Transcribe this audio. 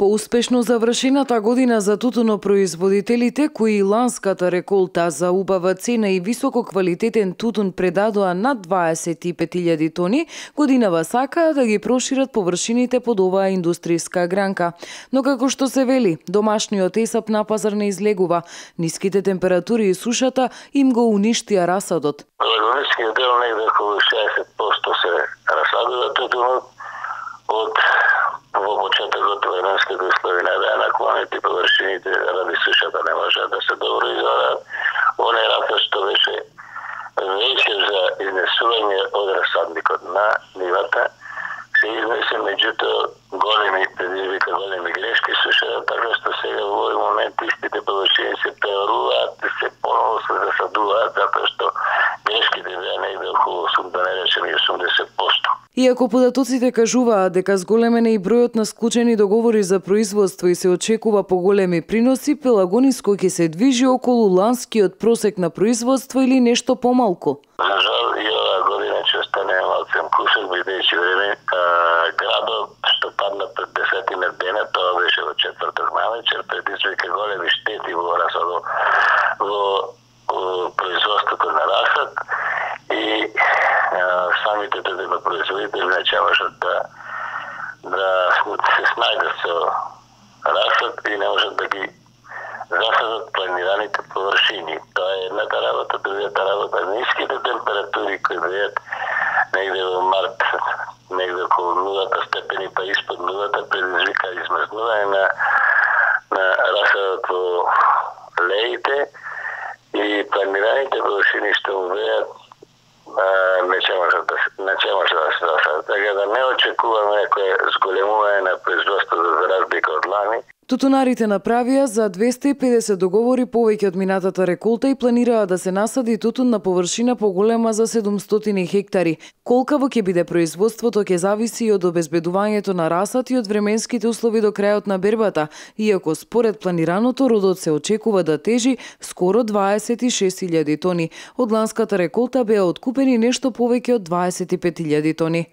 Поуспешно завршената година за тутунопроизводителите кои ланската реколта за убава цена и висококвалитетен тутун предадоа над 25.000 тони, годинава сакаат да ги прошират површините под оваа индустријска гранка. Но како што се вели, домашниот есап на пазар не излегува. Ниските температури и сушата им го уништија расадот. Лагонискиот дел негде околу 60% се расадува тутунот од во почетокот временските услови не беа наклонети, површините ради сушата не можеа да се добро изораат. Оне рата што беше веќе за изнесување од расадникот на нивата се изнесе, меѓутоа големи предизвика, големи грешки сушата, така што сега во овој момент истите површини се преоруваат и се поново се засадуваат, затоа што грешките беа негде околу 80%. Иако податоците кажуваат дека зголемен е и бројот на склучени договори за производство и се очекува поголеми приноси, Пелагониско ќе се движи околу ланскиот просек на производство или нешто помалку. За жал и оваа година ќе остане малцем кусок, бидејќи време градот што падна пред 10 дена, тоа беше во четврток навечер, предизвика големи штети во расадот, во производството на расад и самите тутунопроизводители не можат да се снајдат со расад и не можат да ги засадат планираните површини. Тоа е едната работа, другата работа. Ниските температури кои беат негде во март, негде околу 0 степени, па испод 0, предизвика измрзнување на расадот во леите и планираните површини што беат не ќе може да се засадат. Така да не очекуваме некое зголемување на производството за разлика од лани. Тутунарите направија за 250 договори повеќе од минатата реколта и планираат да се насади тутун на површина поголема за 700 хектари. Колкаво ќе биде производството ќе зависи и од обезбедувањето на расад и од временските услови до крајот на бербата, иако според планираното родот се очекува да тежи скоро 26.000 тони. Од ланската реколта беа откупени нешто повеќе од 25.000 тони.